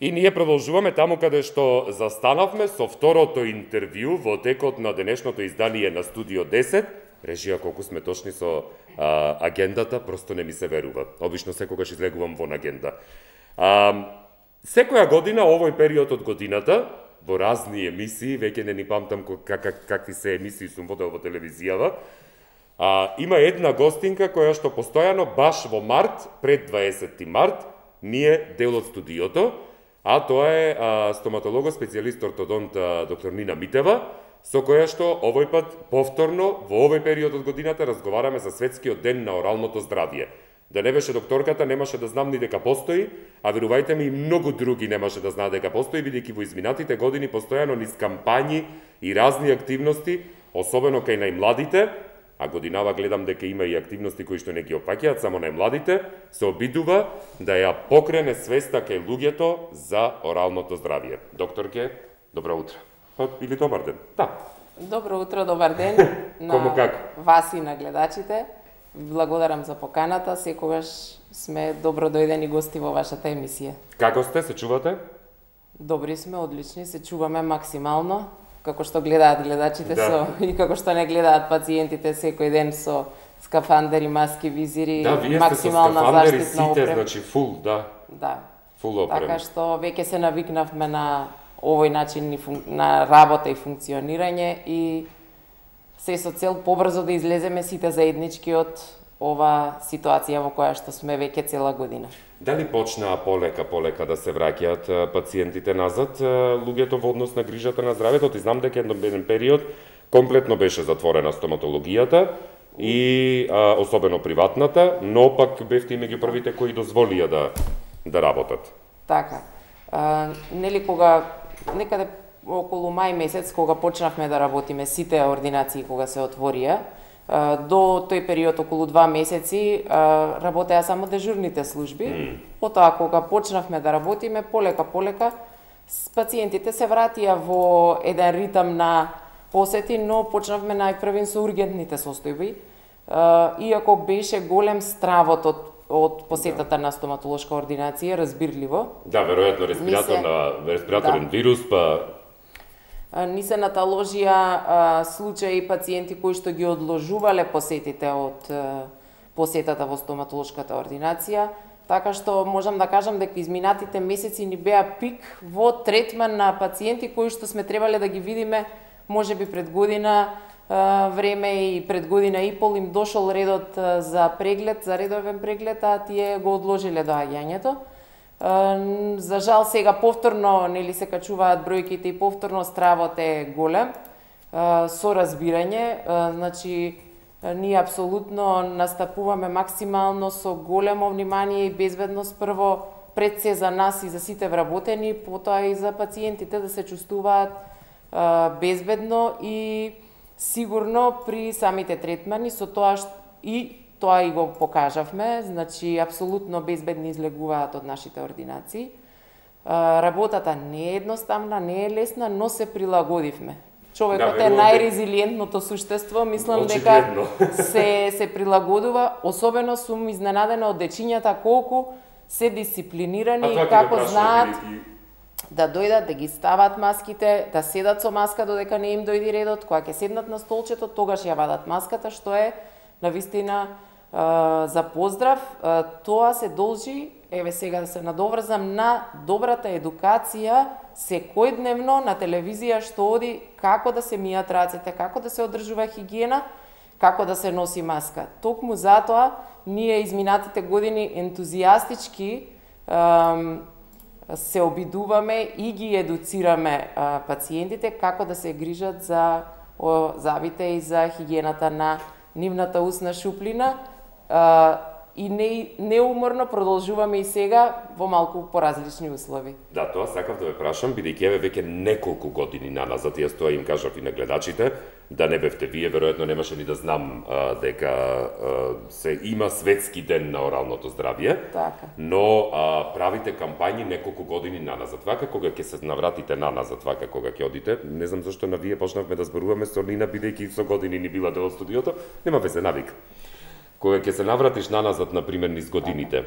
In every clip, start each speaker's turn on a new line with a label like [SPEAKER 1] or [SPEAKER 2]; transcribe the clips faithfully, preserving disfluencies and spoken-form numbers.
[SPEAKER 1] И ние продолжуваме таму каде што застанавме со второто интервју во текот на денешното издание на Студио десет. Режија, колку сме точни со а, агендата, просто не ми се верува. Обично секогаш излегувам во агенда. А, секоја година, овој период од годината, во разни емисии, веќе не ни памтам как, как, какви се емисии сум водел во телевизијава, а, има една гостинка која што постојано, баш во март, пред дваесетти март, ние дел од студиото, а тоа е а, стоматолого, специјалист ортодонт а, доктор Нина Митева, со која што овој пат повторно во овој период од годината разговараме за светскиот ден на оралното здравје. Да не беше докторката, немаше да знам ни дека постои, а верувајте ми и многу други немаше да знаат дека постои, бидејќи во изминатите години постојано низ кампањи и разни активности, особено кај најмладите, а годинава гледам дека има и активности кои што не ги опаќаат само најмладите, се обидува да ја покрене свеста кај луѓето за оралното здравје. Докторке, добро утро. Или добар ден. Да.
[SPEAKER 2] Добро утро, добар ден
[SPEAKER 1] Кому како?
[SPEAKER 2] на вас и на гледачите. Благодарам за поканата, секогаш сме добро дојдени гости во вашата емисија.
[SPEAKER 1] Како сте, се чувате?
[SPEAKER 2] Добри сме, одлични, се чуваме максимално, како што гледаат гледачите
[SPEAKER 1] Да.
[SPEAKER 2] со и како што не гледаат пациентите секој ден со скафандери, маски, визири,
[SPEAKER 1] Да, вие сте со
[SPEAKER 2] максимална
[SPEAKER 1] скафандери
[SPEAKER 2] заштитна
[SPEAKER 1] сите,
[SPEAKER 2] опрема.
[SPEAKER 1] значи фул, да,
[SPEAKER 2] Да.
[SPEAKER 1] фул опрема.
[SPEAKER 2] Така што веќе се навикнавме на овој начин на работа и функционирање и се со цел побрзо да излеземе сите заеднички од ова ситуација во која што сме веќе цела година.
[SPEAKER 1] Дали почнаа полека полека да се враќаат а, пациентите назад, а, луѓето во однос на грижата на здравјето? Ти знам дека еден период комплетно беше затворена стоматологијата и а, особено приватната, но пак бевте и меѓу првите кои дозволија да да работат.
[SPEAKER 2] Така. А, нели кога некаде околу мај месец кога почнавме да работиме сите ординации кога се отворија, а, до тој период околу два месеци а, работеа само дежурните служби. Mm. Потоа кога почнавме да работиме полека полека с пациентите се вратија во еден ритам на посети, но почнавме најпрвен со ургентните состојби. А, иако беше голем стравот од од посетата на стоматолошка ординација, разбирливо.
[SPEAKER 1] Да, веројатно респираторна, респираторен да. вирус, па
[SPEAKER 2] Ни се наталожија а, случаи пациенти кои што ги одложувале посетите од а, посетата во стоматолошката ординација, така што можам да кажам дека изминатите месеци ни беа пик во третман на пациенти кои што сме требале да ги видиме можеби пред година а, време и пред година и пол им дошол редот а, за преглед, за редовен преглед, а тие го одложиле доаѓањето. За жал сега повторно нели се качуваат бројките и повторно стравот е голем, со разбирање, значи ние апсолутно настапуваме максимално со големо внимание и безбедност прво пред се за нас и за сите вработени, потоа и за пациентите да се чувствуваат безбедно и сигурно при самите третмани, со тоа и тоа и го покажавме, значи апсолутно безбедни излегуваат од нашите ординации. Работата не е едноставна, не е лесна, но се прилагодивме. Човекот да, е најрезилиентното суштество, мислам дека се се прилагодува, особено сум изненадена од дечињата колку се дисциплинирани и како знаат да дојдат, да ги стават маските, да седат со маска додека не им дојди редот, кога ќе седнат на столчето, тогаш ја вадат маската, што е навистина за поздрав. Тоа се должи, еве сега да се надоврзам, на добрата едукација секојдневно на телевизија што оди како да се мијат рацете, како да се одржува хигиена, како да се носи маска. Токму затоа ние изминатите години ентузијастички се обидуваме и ги едуцираме пациентите како да се грижат за завите и за хигиената на нивната усна шуплина. Uh, и не, неуморно продолжуваме и сега во малку поразлични услови.
[SPEAKER 1] Да, тоа сакав да ве прашам, бидејќи еве веќе неколку години наназад, јас тоа им кажав и на гледачите, да не бевте вие, веројатно немаше ни да знам а, дека а, се има светски ден на оралното здравје,
[SPEAKER 2] така.
[SPEAKER 1] Но а, правите кампањи неколку години наназад. Вака кога ќе се навратите наназад, вака кога ќе одите, не знам зашто на вие почнавме да зборуваме со Нина, бидејќи со години ни била дел од студиото, нема везе, навик. Кога ќе се навратиш наназад, например, низ годините,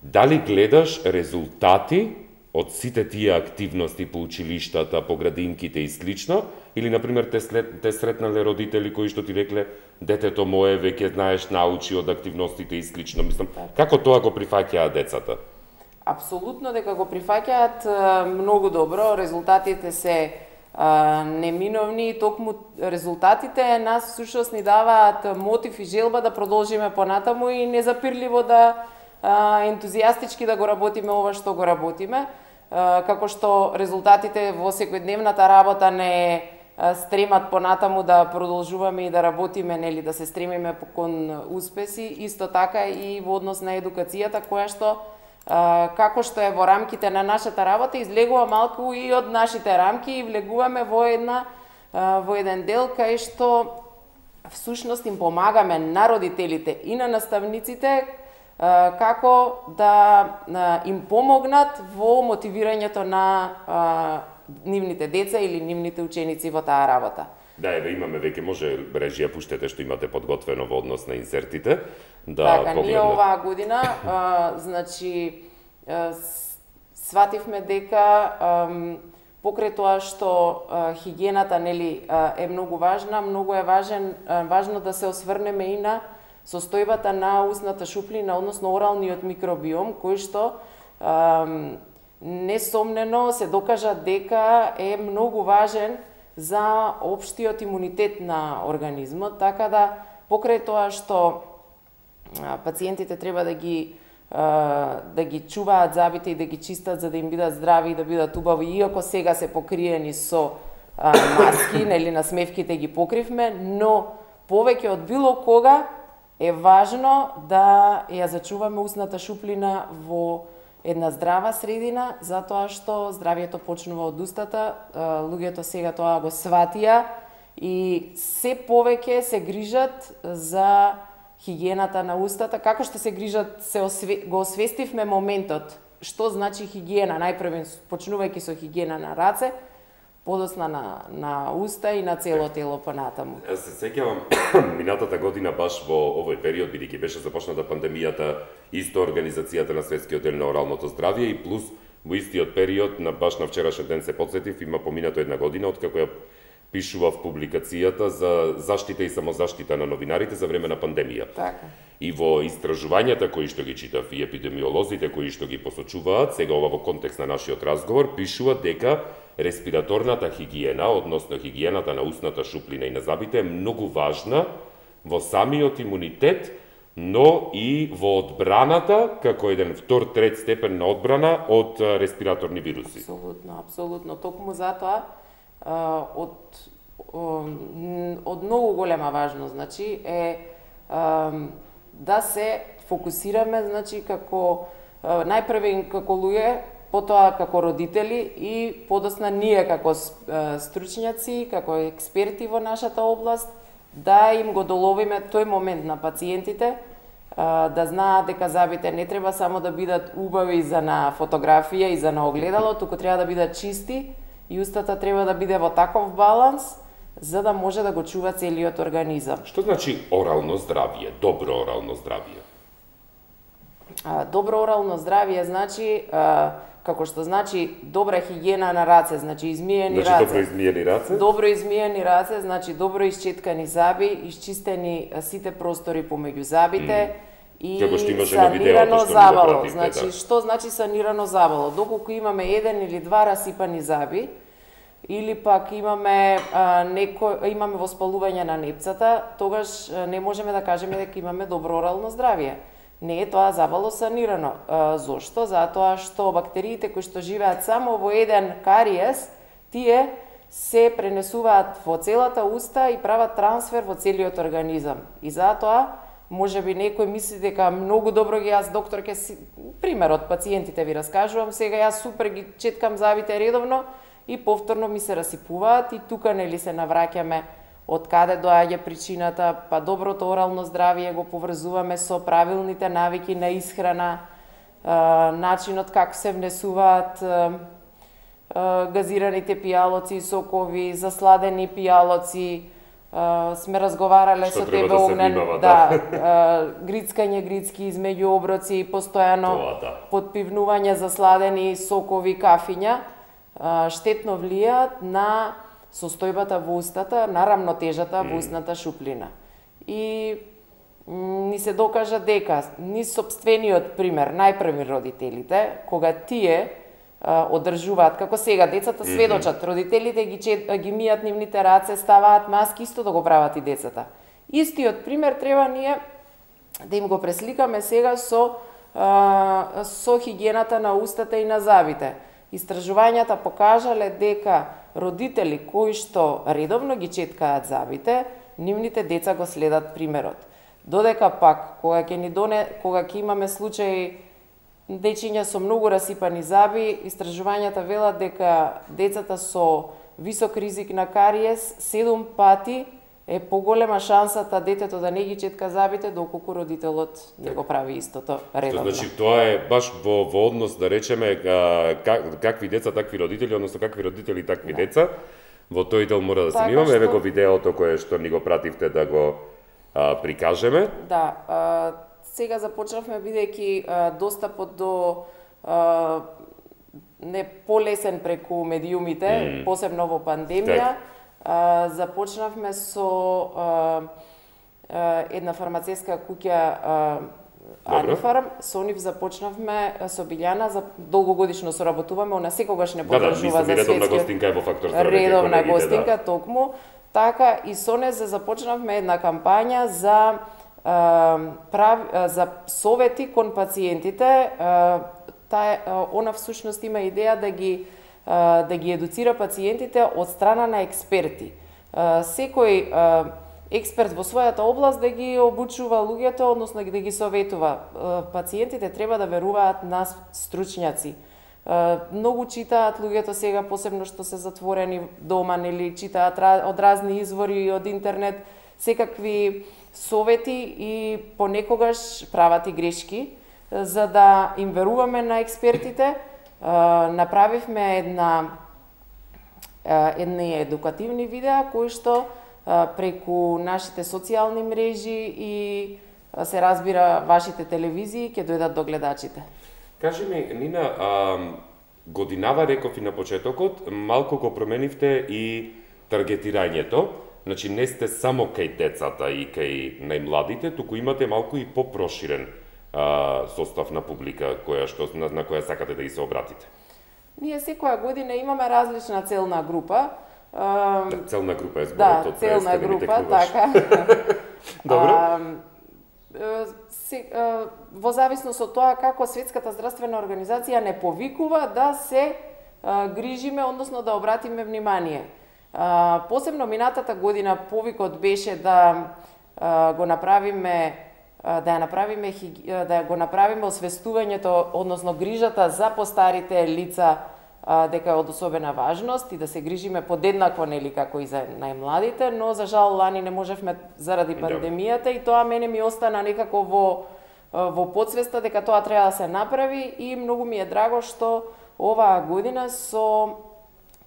[SPEAKER 1] дали гледаш резултати од сите тие активности по училиштата, по градинките и слично, или на пример те, след, те сретнале родители кои што ти рекле детето мое веќе знаеш научи од активностите и слично. Мислам, како тоа го прифаќаат децата?
[SPEAKER 2] Апсолутно дека го прифаќаат многу добро, резултатите се а, неминовни и токму резултатите нас сушност ни даваат мотив и желба да продолжиме понатаму и незапирливо да а, ентузијастички да го работиме ова што го работиме, а, како што резултатите во секојдневната работа не стремат понатаму да продолжуваме и да работиме, нели, да се стремиме кон успеси, исто така и во однос на едукацијата, која што како што е во рамките на нашата работа, излегува малку и од нашите рамки и влегуваме во една во еден дел кај што всушност им помагаме на родителите и на наставниците како да им помогнат во мотивирањето на нивните деца или нивните ученици во таа работа.
[SPEAKER 1] Да, еве имаме веќе, може режија пуштете што имате подготвено во однос на инсертите, да
[SPEAKER 2] така,
[SPEAKER 1] погледнат.
[SPEAKER 2] Ние оваа година, а, значи, а, свативме дека а, покрај тоа што а, хигиената, нели, а, е многу важна, многу е важен, а, важно да се осврнеме и на состојбата на устната шуплина, односно оралниот микробиом, кој што а, несомнено се докажа дека е многу важен за општиот имунитет на организмот, така да покрај тоа што пациентите треба да ги да ги чуваат забите и да ги чистат за да им бидат здрави и да бидат убави, иако сега се покриени со маски, нели, насмевките ги покривме, но повеќе од било кога е важно да ја зачуваме устната шуплина во една здрава средина, затоа што здравието почнува од устата, луѓето сега тоа го сватија и се повеќе се грижат за хигиената на устата, како што се грижат, се осве... го освестивме моментот, што значи хигиена, најпрво почнувајќи со хигиена на раце, подосна на, на уста и на цело тело понатаму.
[SPEAKER 1] Јас се сеќавам минатата година баш во овој период, бидејќи беше започната пандемијата, исто организацијата на Светскиот ден на оралното здравје и плюс во истиот период, на баш на вчерашен ден се потсетив, има поминато една година откако ја пишував публикацијата за заштита и самозаштита на новинарите за време на пандемија.
[SPEAKER 2] Така.
[SPEAKER 1] И во истражувањата кои што ги читав и епидемиолозите кои што ги посочуваат, сега ова во контекст на нашиот разговор, пишуваат дека респираторната хигиена, односно хигиената на устната шуплина и на забите е многу важна во самиот имунитет, но и во одбраната, како еден втор, трет степен на одбрана од респираторни вируси.
[SPEAKER 2] Апсолутно, апсолутно. Токму затоа од од многу голема важност, значи е да се фокусираме, значи како најпрво како луѓе, потоа како родители и подосна ние како стручњаци, како експерти во нашата област, да им го доловиме тој момент на пациентите, да знаат дека забите не треба само да бидат убави за на фотографија и за на огледало, туку треба да бидат чисти и устата треба да биде во таков баланс за да може да го чува целиот организам.
[SPEAKER 1] Што значи орално здравје, добро орално здравје?
[SPEAKER 2] Добро орално здравје значи како што значи добра хигиена на раце, значи измиени
[SPEAKER 1] значи,
[SPEAKER 2] раце.
[SPEAKER 1] Добро измиени раце?
[SPEAKER 2] Добро измиени раце, значи добро исчеткани заби, изчистени сите простори помеѓу забите mm. и санирано забало. Да значи, да. Што значи санирано забало? Доколку имаме еден или два расипани заби, или пак имаме а, некој имаме воспалување на непцата, тогаш а, не можеме да кажеме дека имаме добро орално здравје. Не е тоа забало санирано. А, зошто? Затоа што бактериите кои што живеат само во еден кариес, тие се пренесуваат во целата уста и прават трансфер во целиот организам. И затоа, можеби некој мисли дека многу добро ги јас доктор ке си пример од пациентите ви раскажувам, сега јас супер ги четкам забите редовно и повторно ми се расипуваат и тука нели се навраќаме од каде доаѓа причината, па доброто орално здравје го поврзуваме со правилните навики на исхрана, начинот како се внесуваат газираните пијалоци, сокови, засладени пијалоци, Uh, сме разговарале
[SPEAKER 1] Што
[SPEAKER 2] со тебе,
[SPEAKER 1] да
[SPEAKER 2] Огнен,
[SPEAKER 1] внимава,
[SPEAKER 2] да, uh, грицкање грицки измеѓу оброци, постојано
[SPEAKER 1] да.
[SPEAKER 2] подпивнување за сладени сокови, кафиња, uh, штетно влијаат на состојбата во устата, на рамнотежата mm. во устната шуплина. И м, ни се докажа дека ни сопствениот пример, најпрви родителите, кога тие одржуваат, како сега децата сведочат, родителите ги чет, ги мијат нивните раце, ставаат маски, исто да го прават и децата. Истиот пример треба ние да им го пресликаме сега со а, со хигиената на устата и на зъбите. Истражувањата покажале дека родители кои што редовно ги четкаат зъбите, нивните деца го следат примерот. Додека пак кога ќе ни доне, кога ќе имаме случаи дечиња со многу расипани зъби, истражувањата велат дека децата со висок ризик на кариес седум пати е поголема шансата детето да не ги четка зъбите, доколку родителот не го прави истото редовно.
[SPEAKER 1] Значи тоа е баш во, во однос да речеме как, какви деца такви родители, односно какви родители такви да. деца. Во тој дел мора да се внимаме, еве го видеото кое што ни го пративте да го а, прикажеме.
[SPEAKER 2] Да, а, сега започнавме бидејќи достапот до а, не полесен преку медиумите, mm. посебно во пандемија. А, започнавме со а, а, една фармацевска куќа Анифарм, со нив започнавме со Билјана, за долгогодишно соработуваме, она секогаш не подржува
[SPEAKER 1] да, да,
[SPEAKER 2] за светски.
[SPEAKER 1] Редовна гостинка е во Фактор здравје.
[SPEAKER 2] Редовна гостинка, да. Токму. Така и со не започнавме една кампања за а, прав, а, за совети кон пациентите. А, таа она всушност има идеја да ги а, да ги едуцира пациентите од страна на експерти. А, секој а, експерт во својата област да ги обучува луѓето, односно да ги советува. Пациентите треба да веруваат на стручњаци. Многу читаат луѓето сега, посебно што се затворени дома, нели читаат од разни извори, од интернет, секакви совети и понекогаш прават и грешки. За да им веруваме на експертите, направивме една едни едукативни видеа кои што преку нашите социјални мрежи и се разбира вашите телевизии ќе дојдат до гледачите.
[SPEAKER 1] Кажи ми, Нина, а, годинава реков и на почетокот, малку го променивте и таргетирањето, значи не сте само кај децата и кај најмладите, туку имате малку и попроширен а, состав на публика која што на, на која сакате да ги се обратите.
[SPEAKER 2] Ние секоја година имаме различна целна група.
[SPEAKER 1] Um, да, целна група е зборот
[SPEAKER 2] да,
[SPEAKER 1] од
[SPEAKER 2] целна група, така.
[SPEAKER 1] Добро.
[SPEAKER 2] А, се, а, во зависност од тоа како Светската здравствена организација не повикува да се а, грижиме, односно да обратиме внимание. А, посебно минатата година повикот беше да а, го направиме да ја направиме да го направиме освестувањето, односно грижата за постарите лица дека е од особена важност и да се грижиме подеднакво, нели, како и за најмладите, но за жал лани не можевме заради пандемијата и тоа мене ми остана некако во во подсвеста дека тоа треба да се направи и многу ми е драго што оваа година со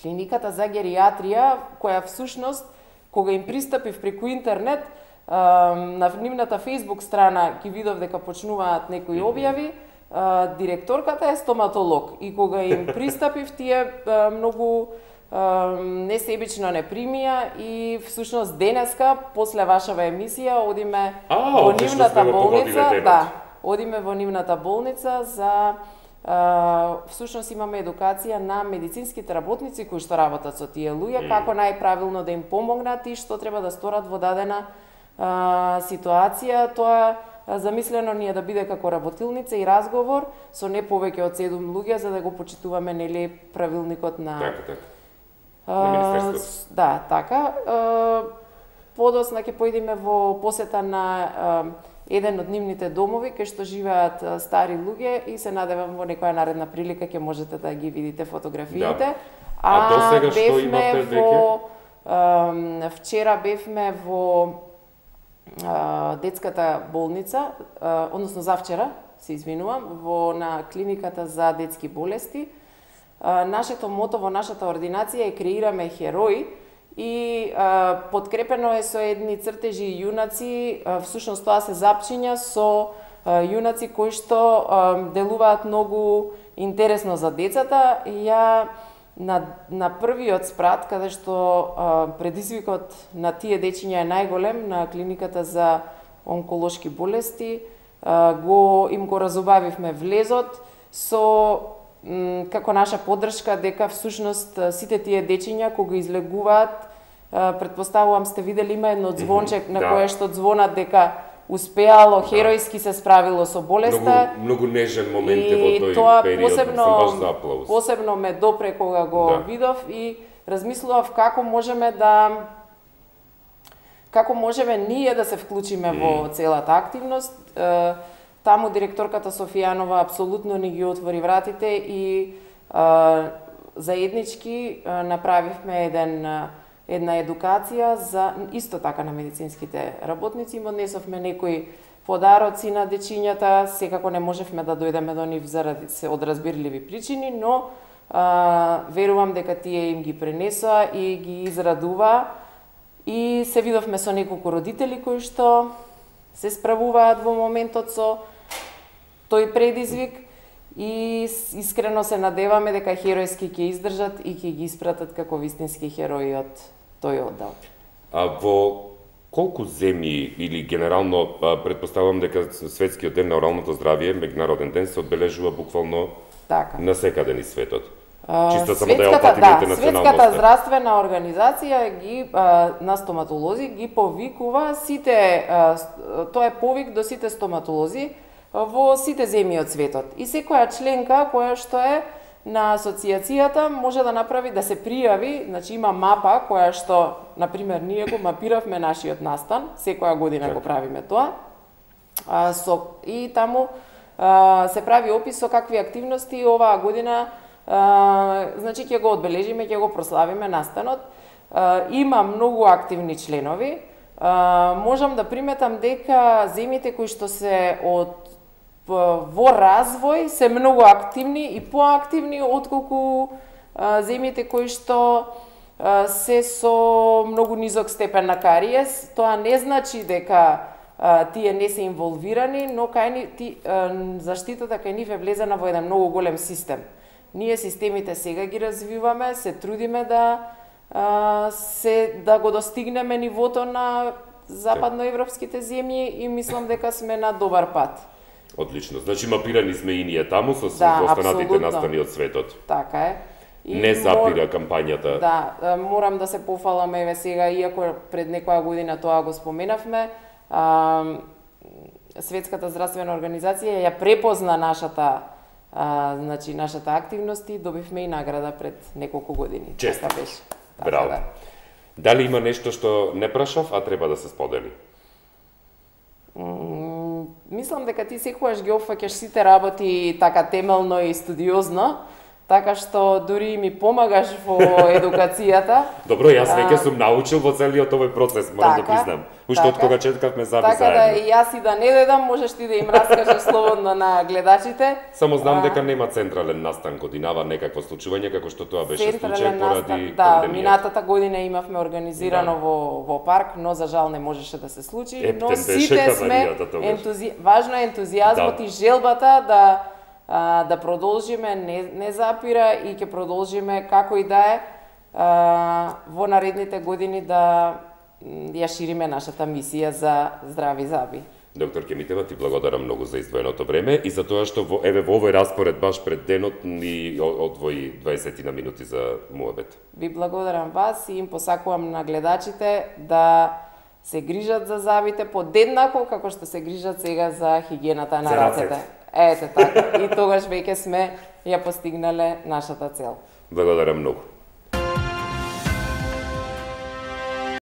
[SPEAKER 2] клиниката за гериатрија, која всушност кога им пристапив преку интернет на нивната Facebook страна ги видов дека почнуваат некои објави. Uh, директорката е стоматолог и кога им пристапив тие uh, многу uh, несебично не примија и всушност денеска после вашава емисија одиме
[SPEAKER 1] а,
[SPEAKER 2] во нивната болница, да, одиме во нивната болница за uh, всушност имаме едукација на медицинските работници кои што работат со тие луѓе, mm. како најправилно да им помогнат и што треба да сторат во дадена uh, ситуација. Тоа замислено ни е да биде како работилница и разговор со не повеќе од седум луѓе за да го почитуваме, нели, правилникот на
[SPEAKER 1] така, така.
[SPEAKER 2] На министерството. Да, така. Подосна ќе поидеме во посета на еден од нивните домови кај што живеат стари луѓе и се надевам во некоја наредна прилика ќе можете да ги видите фотографиите. Да.
[SPEAKER 1] А, а до сега што имавте
[SPEAKER 2] веќе? Вчера бевме во детската болница, односно завчера, се извинувам, во на клиниката за детски болести. Нашето мото во нашата ординација е креираме херои и а, подкрепено е со едни цртежи и јунаци, а, всушност тоа се запчиња со а, јунаци кои што а, делуваат многу интересно за децата. И ја на, на првиот спрат, каде што а, предизвикот на тие дечиња е најголем, на клиниката за онколошки болести, а, го им го разубавивме влезот со како наша поддршка дека всушност сите тие дечиња кога излегуваат, предпоставувам сте видели, има едно звонче на кое што звонат дека успеало, херојски се справило со болеста.
[SPEAKER 1] Многу, многу нежен момент е во тој
[SPEAKER 2] тоа
[SPEAKER 1] период,
[SPEAKER 2] посебно,
[SPEAKER 1] баш за аплауз.
[SPEAKER 2] Посебно ме допре кога го да. видов и размислував како можеме да како можеме ние да се вклучиме mm. во целата активност. Таму директорката Софијанова апсолутно ни ги отвори вратите и а, заеднички а, направивме еден, една едукација за исто така на медицинските работници. Им однесовме некои подароци на дечињата, секако не можевме да дојдеме до нив заради се од разбирливи причини, но а, верувам дека тие им ги пренесоа и ги израдува. И се видовме со неколку родители кои што се справуваат во моментот со тој предизвик и искрено се надеваме дека херојски ќе издржат и ќе ги испратат како вистински херои од тој оддел.
[SPEAKER 1] А во колку земји или генерално претпоставувам дека светскиот ден на оралното здравје, меѓународен ден, се одбележува буквално така насекаде низ светот? Чисто само да ја опатиме
[SPEAKER 2] да, Светската здравствена организација ги а, на стоматолози ги повикува сите, а, тоа е повик до сите стоматолози во сите земји од светот. И секоја членка која што е на асоциацијата може да направи, да се пријави, значи има мапа која што, например, ние го мапиравме нашиот настан, секоја година так. го правиме тоа, а, со, и таму а, се прави опис со какви активности оваа година Uh, значи ќе го одбележиме, ќе го прославиме настанот. Uh, има многу активни членови. Uh, можам да приметам дека земјите кои што се од во развој се многу активни и поактивни отколку uh, земјите кои што uh, се со многу низок степен на кариес. Тоа не значи дека uh, тие не се инволвирани, но кај ни ти, uh, заштитата кај нив е влезена во еден многу голем систем. Ние системите сега ги развиваме, се трудиме да а, се да го достигнеме нивото на западноевропските земји и мислам дека сме на добар пат.
[SPEAKER 1] Одлично. Значи мапирани сме и ние таму со да, останатите настани од светот.
[SPEAKER 2] Така е.
[SPEAKER 1] И не запира мор... кампањата.
[SPEAKER 2] Да, морам да се пофалам еве сега, иако пред некоја година тоа го споменавме, а, Светската здравствена организација ја препозна нашата А, значи, нашата активност и добивме и награда пред неколку години.
[SPEAKER 1] Чест.
[SPEAKER 2] Така беше. Така,
[SPEAKER 1] Браво.
[SPEAKER 2] Да.
[SPEAKER 1] Дали има нешто што не прашав, а треба да се сподели?
[SPEAKER 2] М мислам дека ти секогаш ги опфаќаш сите работи така темелно и студиозно, така што дури ми помагаш во едукацијата.
[SPEAKER 1] Добро, јас веќе сум научил во целиот овој процес, морам така, да признам. Уште од кога четкавме заби
[SPEAKER 2] така
[SPEAKER 1] заедно.
[SPEAKER 2] Така да и јас и да не дедам, можеш ти да им раскажеш слободно на гледачите.
[SPEAKER 1] Само знам а... дека нема централен настан годинава некакво случување како што тоа беше случај поради
[SPEAKER 2] да,
[SPEAKER 1] пандемијата.
[SPEAKER 2] Минатата година имавме организирано да. во во парк, но за жал не можеше да се случи,
[SPEAKER 1] Ептен
[SPEAKER 2] но сите сме
[SPEAKER 1] ентузи...
[SPEAKER 2] важно е ентузијазмот да. и желбата да а, да продолжиме, не, не запира и ќе продолжиме како и да е а, во наредните години да ја шириме нашата мисија за здрави заби.
[SPEAKER 1] Доктор Кемитева, ти благодарам многу за издвоеното време и за тоа што во, еве во овој распоред баш пред денот ни одвои дваесет на минути за муабет.
[SPEAKER 2] Ви благодарам вас и им посакувам на гледачите да се грижат за забите подеднако како што се грижат сега за хигиената на рацете. Ете така. И тогаш веќе сме ја постигнале нашата цел.
[SPEAKER 1] Благодарам многу.